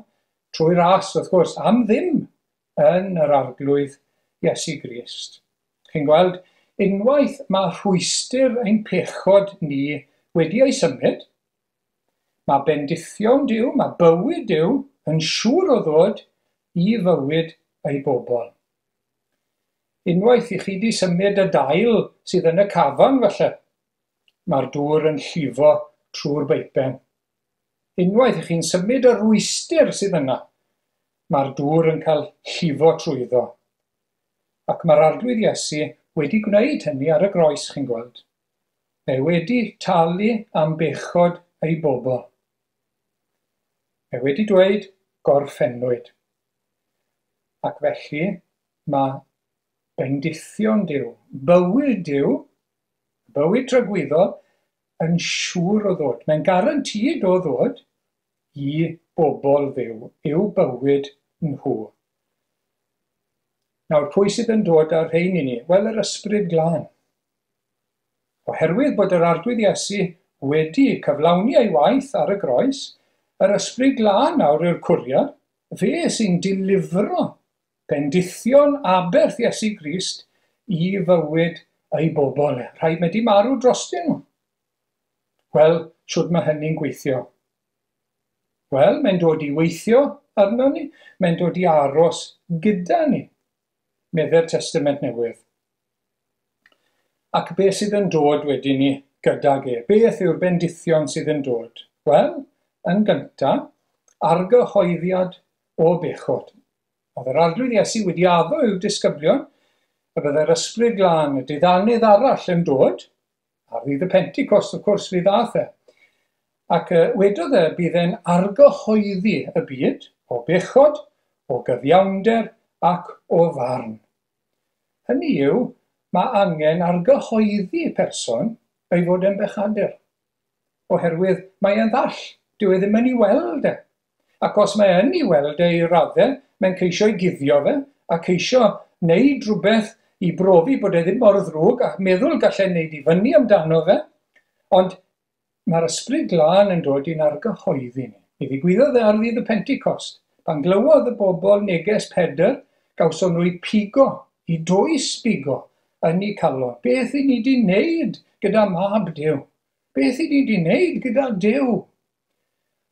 S2: Trwy ras, wrth gwrs, am ddim yn yr Arglwydd Iesu Grist. Chi'n gweld, unwaith mae rhwystr ein pechod ni wedi ei symud, mae bendithion Duw, mae bywyd Duw yn siŵr o ddod i fywyd ei bobl. Unwaith i chi di symud y dail sydd yn y cafan falle, mae'r dŵr yn llifo trwy'r beipen. Unwaith i chi'n symud y rwystr sydd yna, mae'r dŵr yn cael llifo trwyddo. Ac mae'r Arglwydd Iesu wedi gwneud hynny ar y groes, chi'n gweld. Mae wedi talu am bechod ei bobl. Mae wedi dweud gorffennwyd. Ac felly mae bendithion Duw, bywyd Duw, bywyd tragwyddol, yn siŵr o ddod. Mae'n garantid o ddod i bobl Dduw, i'w bywyd nhw. Nawr, pwy sydd yn dod â'r rhein i ni? Wel, yr Ysbryd Glân. Oherwydd bod yr Arglwydd Iesu wedi cyflawni ei waith ar y groes, yr Ysbryd Glân nawr yw'r cwriad, fe sy'n dilifro bendithion aberth Iesu Grist i fywyd ei bobl. Rhaid mae di marw drostyn nhw. Wel, shwd mae hynny'n gweithio? Wel, mae'n dod i weithio arno ni, mae'n dod i aros gyda ni, medde'r Testament Newydd. Ac beth sydd yn dod wedyn ni gydag e? Beth yw'r bendithion sydd yn dod? Wel, yn gyntaf, argyhoeddiad o bechod. Oedd yr Arglwydd Iesu wedi addo i'w disgyblion y byddai'r Ysbryd Glân, y diddanydd arall yn dod, ar ddydd y Pentecost, wrth gwrs, fydd ddath e. Ac wedodd e bydd e'n argyhoeddi y byd o bechod, o gyfiawnder ac o farn. Hynny yw, mae angen argyhoeddi person ei fod yn bechadur. Oherwydd mae e'n ddall, dyw e ddim yn ei weld e. Ac os mae yn ei weld e i raddau, mae'n ceisio ei guddio fe, a ceisio wneud rhywbeth i brofi bod e ddim mor ddrwg, a meddwl gallai wneud i fyny amdano fe. Ond mae'r Ysbryd Glân yn dod i'n argyhoeddi ni. Mi ddigwyddodd e ar ddydd y Pentecost. Pan glywodd y bobl neges Pedr, gawson nhw eu pigo, i dwys bigo yn eu calon. Beth i ni di wneud gyda mab Duw? Beth i ni di wneud gyda Duw?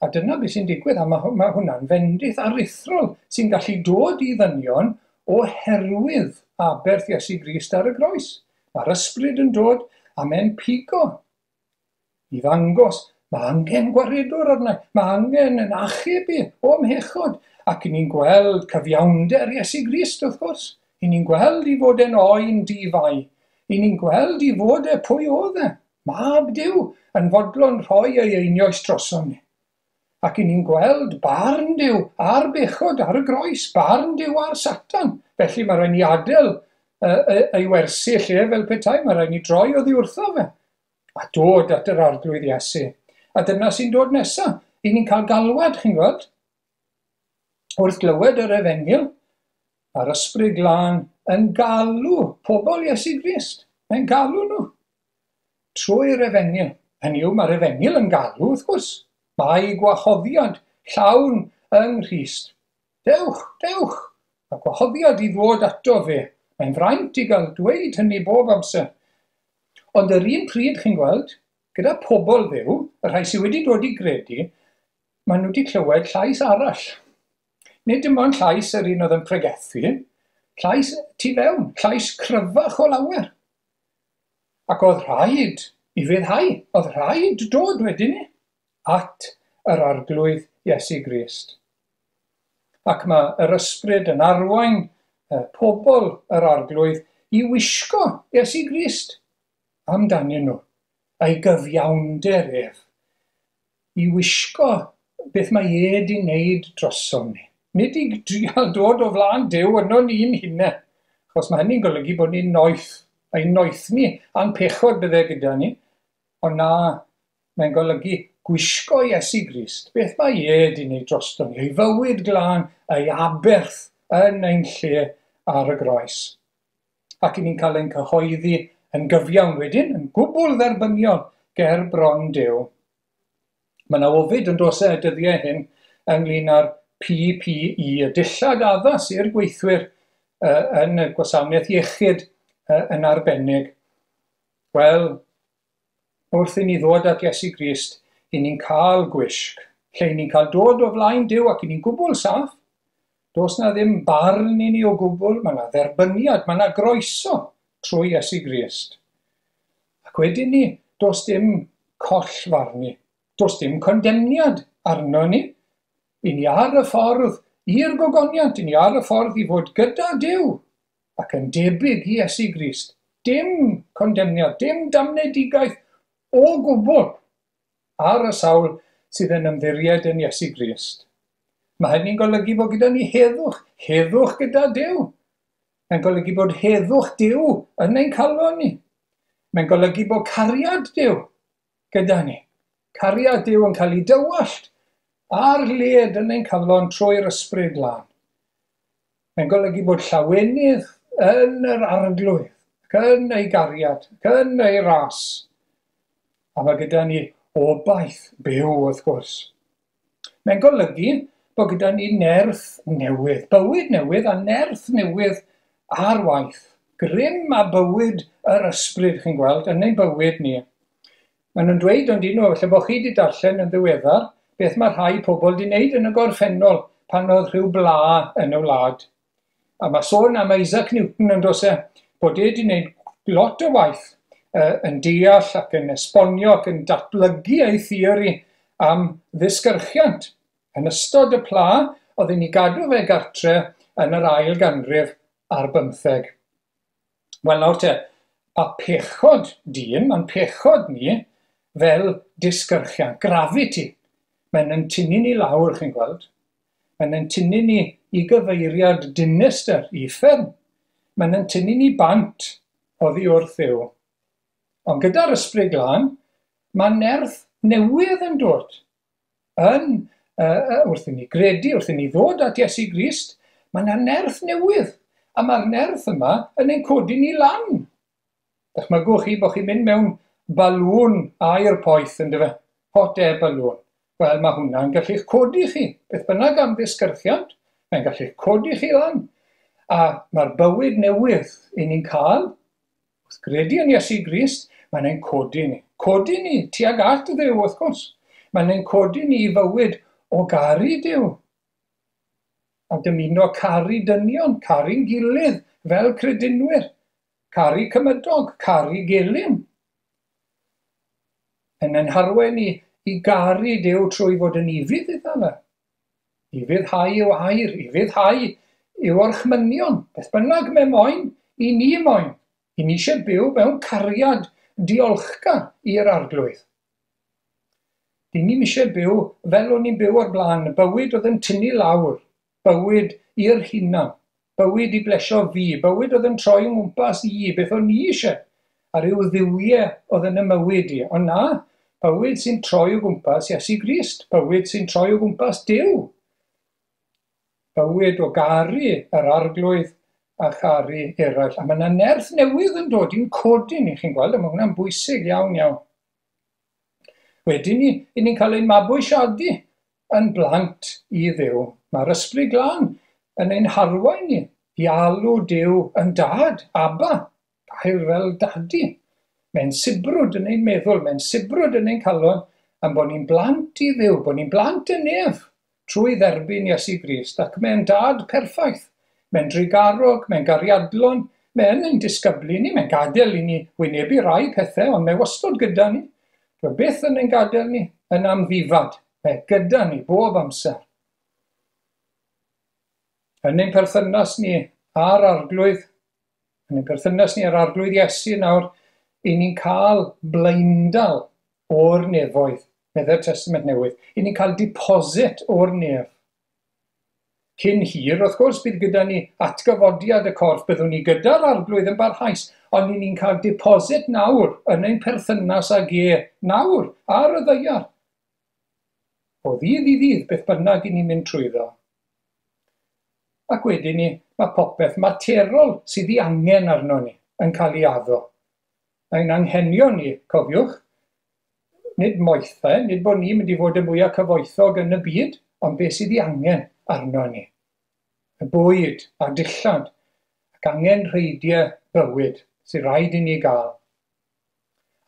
S2: A dyna beth sy'n digwydd, a mae, mae hwnna'n fendith aruthrol sy'n gallu dod i ddynion oherwydd aberth Iesu Grist ar y groes. Mae'r Ysbryd yn dod a mae'n pigo i ddangos mae angen gwaredwr arna, mae angen yn achub i o mhechod. Ac i ni'n gweld cyfiawnder Iesu Grist, wrth gwrs. I ni'n gweld i fod e'n oen di-fai. I ni'n gweld i fod e pwy oedd e. Mab Duw yn fodlon rhoi ei einioes drosom ni. Ac i ni'n gweld barn Duw ar bechod ar y groes, barn Duw ar Satan. Felly mae rhaid ni adael uh, ei wersi lle fel petai, mae rhaid ni droi oddi wrtho fe. A dod at yr Arglwydd Iesu. A dyna sy'n dod nesaf. I ni'n cael galwad, chi'n gweld? Wrth glywed yr Efengyl, mae'r Ysbryd Glân yn galw pobl Iesu Grist. Mae'n galw nhw trwy'r Efengyl. Hynny yw, mae'r Efengyl yn galw, wrth gwrs. Mae gwahoddiad llawn yng Nghrist. Dewch, dewch. Mae gwahoddiad i ddod ato fe. Mae'n fraint i gael dweud hynny bob amser. Ond yr un pryd, chi'n gweld, gyda pobl Dduw, y rhai sydd wedi dod i gredu, maen nhw wedi clywed llais arall. Nid dim ond llais yr un oedd yn pregethu, llais tu fewn, llais cryfach o lawer. Ac oedd rhaid i fyddhau, oedd rhaid dod wedyn ni at yr Arglwydd Iesu Grist. Ac mae yr Ysbryd yn arwain pobl yr Arglwydd i wisgo Iesu Grist amdanyn nhw, a'i gyfiawnder ef, i wisgo beth mae e wedi wneud drosom ni. Nid i drial dod o flaen Duw yno ni'n hunain, achos mae hynny'n golygu bod ni'n noeth. Ein noethni a'n pechod bydde gyda ni. Ond na, mae'n golygu gwisgo Iesu Grist. Beth mae e di wneud drosto ni? Ei fywyd glân, ei aberth yn ein lle ar y groes. Ac i ni'n cael ein cyhoeddi yn gyfiawn wedyn, yn gwbl dderbyniol ger bron Duw. Mae yna ofid yn dos e dyddiau hyn ynglyn â'r P P E, y dillad addas i'r gweithwyr uh, yn y gwasanaeth iechyd uh, yn arbennig. Wel, wrth i ni ddod at Iesu Grist, i ni'n cael gwisg, lle i ni'n cael dod o flaen Duw ac i ni'n gwbl saff. Does na ddim barn i ni o gwbl, mae yna dderbyniad, mae yna groeso trwy Iesu Grist. Ac wedyn ni, does dim collfarnu, does dim condemniad arno ni. I ni ar y ffordd i'r gogoniant, i ni ar y ffordd i fod gyda Duw ac yn debyg i Iesu Grist. Dim condemniad, dim damnedigaeth o gwbl ar y sawl sydd yn ymddiried yn Iesu Grist. Mae hynny'n golygu bod gyda ni heddwch, heddwch gyda Duw. Mae'n golygu bod heddwch Duw yn ein calon ni. Mae'n golygu bod cariad Duw gyda ni. Cariad Duw yn cael ei dywallt ar led yn ein calon trwy'r Ysbryd Glân. Mae'n golygu bod llawenydd yn yr Arglwydd, ac yn ei gariad, ac yn ei ras. A mae gyda ni obaith byw, wrth gwrs. Mae'n golygu bod gyda ni nerth newydd, bywyd newydd a nerth newydd ar waith. Grym a bywyd yr ysbryd, chi'n gweld, yn ein bywyd ni. Maen nhw'n dweud ond un nhw, falle bod chi wedi darllen yn ddiweddar, beth mae rhai pobl wedi wneud yn y gorffennol pan oedd rhyw bla yn y wlad. A mae sôn am Isaac Newton yn dos e, bod e wedi wneud lot o waith uh, yn deall ac yn esbonio ac yn datblygu ei theori am ddisgyrchiant. Yn ystod y pla, oedd hi'n ei gadw fe gartre yn yr ail ganrif ar bymtheg. Wel nawr te, a pechod dyn, mae'n pechod ni fel disgyrchiant, gravity. Mae'n yn tynnu ni lawr, chi'n gweld. Mae'n yn tynnu ni i gyfeiriad dinistr, uffern. Mae'n yn tynnu ni bant oddi wrth Dduw. Ond gyda'r Ysbryd Glân, mae nerth newydd yn dod. Yn, uh, wrth i ni gredu, wrth i ni ddod at Iesu Grist, mae yna nerth newydd. A mae'r nerth yma yn ein codi ni lan. Dychmygwch chi bod chi'n mynd mewn balŵn aer poeth, yndyfe? Hot air balloon. Wel, mae hwnna'n gallu'ch codi chi. Beth bynnag am ddisgyrchiant, mae'n gallu'ch codi chi lan. A mae'r bywyd newydd i ni'n cael, wrth gredu yn Iesu Grist, mae'n ein codi ni. Codi ni tuag at Dduw, wrth gwrs. Mae'n ein codi ni i fywyd o garu Duw. A dymuno caru dynion, caru'n gilydd fel credinwyr, caru cymydog, caru gelyn. Yn ein harwain ni i garu Duw trwy fod yn ufudd iddo fe. Ufuddhau i'w air, ufuddhau i'w orchmynion. Beth bynnag mae moyn, i ni moyn. I ni eisiau byw mewn cariad diolchgar i'r Arglwydd. Dyn ni'm eisiau byw fel o'n i'n byw o'r blaen, bywyd oedd yn tynnu lawr, bywyd i'r hunan, bywyd i blesio fi, bywyd oedd yn troi yng ngwmpas i, beth o'n i eisiau, a rhyw dduwiau oedd yn y mywyd i. Ond na, bywyd sy'n troi o gwmpas Iesu Grist, bywyd sy'n troi o gwmpas Duw. Bywyd o garu yr Arglwydd a charu eraill. A mae yna nerth newydd yn dod i'n codi ni, chi'n gweld, a mae hwnna'n bwysig iawn iawn. Wedyn ni, i ni'n cael ein mabwysiadu yn blant i Dduw. Mae'r Ysbryd Glân yn ein harwain ni i alw Duw yn dad, Abba, gair fel dadi. Mae'n sibrwd yn ein meddwl, mae'n sibrwd yn ein calon, am bod ni'n blant i Dduw, bod ni'n blant y nef trwy dderbyn Iesu Grist, ac mae'n dad perffaith. Mae'n drugarog, mae'n gariadlon, mae'n ein disgyblu ni, mae'n gadael i ni wynebu rai pethau, ond mae wastod gyda ni. Dyw byth yn ein gadael ni yn amddifad, mae gyda ni bob amser. Yn ein perthynas ni â'r Arglwydd, yn ein perthynas ni â'r Arglwydd Iesu nawr, i ni'n cael blaendal o'r nefoedd, meddai'r Testament Newydd. I ni'n cael deposit o'r nef. Cyn hir, wrth gwrs, bydd gyda ni atgyfodiad y corff, byddwn ni gyda'r Arglwydd yn barhaus, ond ni'n cael deposit nawr yn ein perthynas ag e nawr ar y ddaear. O ddydd i ddydd, beth bynnag i ni'n mynd trwyddo. Ac wedyn ni, mae popeth materol sydd ei angen arno ni yn cael ei addo. Ein anghenion ni, cofiwch, nid moethau, nid bod ni'n mynd i fod y mwyaf cyfoethog yn y byd, ond beth sydd ei angen arno ni. Y bwyd a'r dillad, ac angenrheidiau bywyd sydd rhaid i ni gael.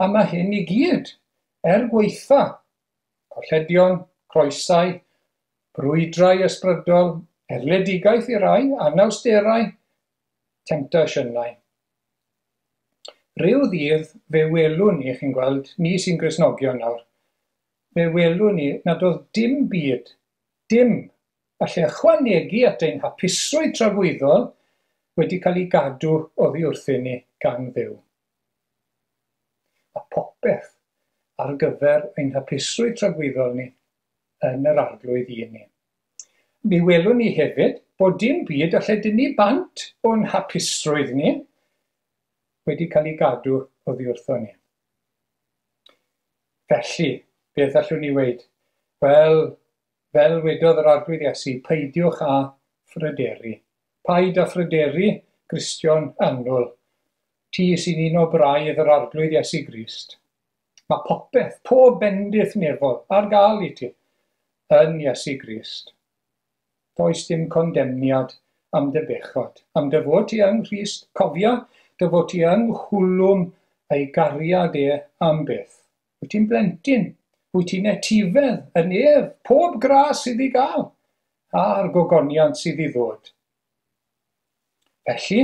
S2: A mae hyn i gyd, er gwaetha, colledion, croesau, brwydrau ysbrydol, erledigaeth i rai, anawsterau, temtasiynau. Rhyw ddydd fe welwn ni, chi'n gweld, ni sy'n Gristnogion nawr, fe welwn ni nad oedd dim byd, dim, allai ychwanegu at ein hapusrwydd tragwyddol wedi cael ei gadw oddi wrthyn ni gan Dduw. A popeth ar gyfer ein hapusrwydd tragwyddol ni yn yr Arglwydd i ni. Mi welwn ni hefyd bod dim byd allai dynnu bant o'n hapusrwydd ni wedi cael ei gadw oddi wrtho ni. Felly, beth allwn ni weud? Wel, fel wedodd yr Arglwydd Iesu, peidiwch â phryderu. Paid â phryderu, Gristion annwyl. Ti sy'n un o braidd yr Arglwydd Iesu Grist. Mae popeth, pob bendith nefol ar gael i ti yn Iesu Grist. Does dim condemniad am dy bechod, am dy fod ti yng Nghrist. Cofia dy fod ti yng nghwlwm ei gariad e am byth. Wyt ti'n blentyn, wyt ti'n etifedd yn ef, pob gras sydd i gael, a'r gogoniant sydd i ddod. Felly,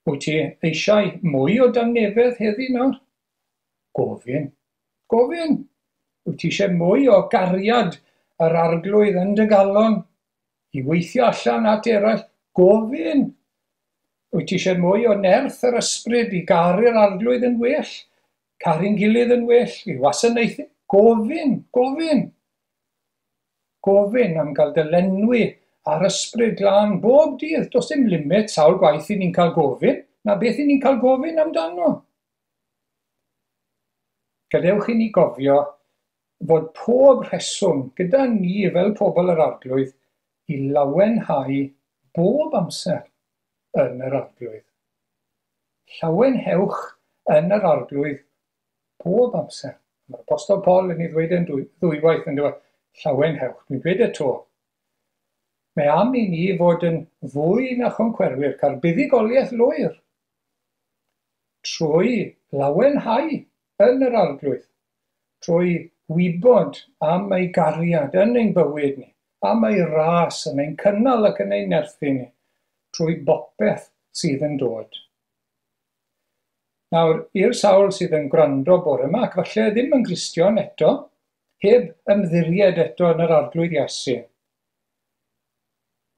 S2: wyt ti eisiau mwy o dangnefedd heddi nawr? Gofyn, gofyn. Wyt ti eisiau mwy o gariad yr Arglwydd yn dy galon i weithio allan at eraill? Gofyn. Wyt ti eisiau mwy o nerth yr ysbryd i garu'r Arglwydd yn well, caru'n gilydd yn well, i wasanaethu? Gofyn, gofyn. Gofyn am gael dy lenwi a'r ysbryd glân bob dydd. Does dim limit sawl gwaith i ni'n cael gofyn, na beth i ni'n cael gofyn amdano. Gadewch i ni gofio fod pob rheswm gyda ni fel pobl yr Arglwydd i lawenhau bob amser yn yr Arglwydd. Llawenhewch yn yr Arglwydd bob amser. Mae'r Apostol Paul yn ei ddweud yn ddwywaith yn dweud, llawenhewch. Dwi'n dweud e to. Mae am i ni fod yn fwy na choncwerwyr, cael buddugoliaeth lwyr trwy lawenhau yn yr Arglwydd, trwy wybod am ei gariad yn ein bywyd ni, am ei ras yn ein cynnal ac yn ein nerthu ni, trwy bopeth sydd yn dod. Nawr, i'r sawl sydd yn gwrando bore yma, ac falle ddim yn Gristion eto, heb ymddiried eto yn yr Arglwydd Iesu,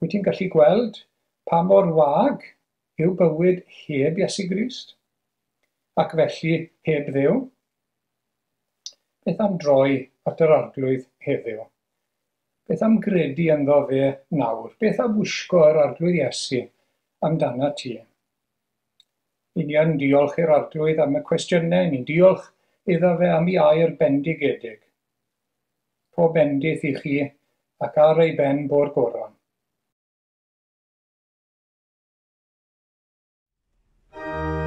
S2: wyt ti'n gallu gweld pa mor wag yw bywyd heb Iesu Grist, ac felly heb Dduw? Beth am droi at yr Arglwydd heddiw? Beth am gredu ynddo fe nawr? Beth am wisgo yr Arglwydd Iesu amdana ti? I ni yn diolch i'r Arglwydd am y cwestiynau, ni'n diolch iddo fe am ei air bendigedig. Pob bendith i chi ac ar ei ben bo'r goron.
S3: Christ,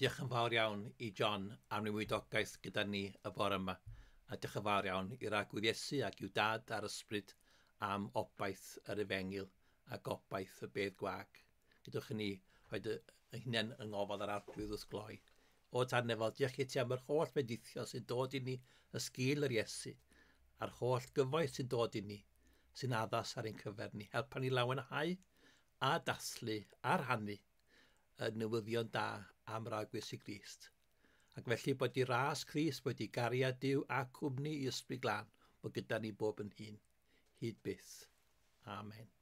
S1: Wel, diolch yn fawr iawn i John am ei weinidogaeth gyda ni y bore yma. A diolch yn fawr iawn i'r Arglwydd Iesu ac i'w dad a'r ysbryd am obaith yr efengyl a gobaith y bedd gwag. Gadewch i ni rhoi y, y hunain yng ngofal yr Arglwydd wrth gloi. O Tad nefol, diolch i ti am yr holl fendithion sy'n dod i ni yn sgil yr Iesu, a'r holl gyfoeth sy'n dod i ni, sy'n addas ar ein cyfer ni. Helpa ni lawenhau a dathlu a rhannu y newyddion da am Arglwydd Iesu Grist. Ac felly bod i ras Crist, bod i gariad Duw a cwmni i Ysbryd Glân, bod gyda ni bob yn hun, hyd byth. Amen.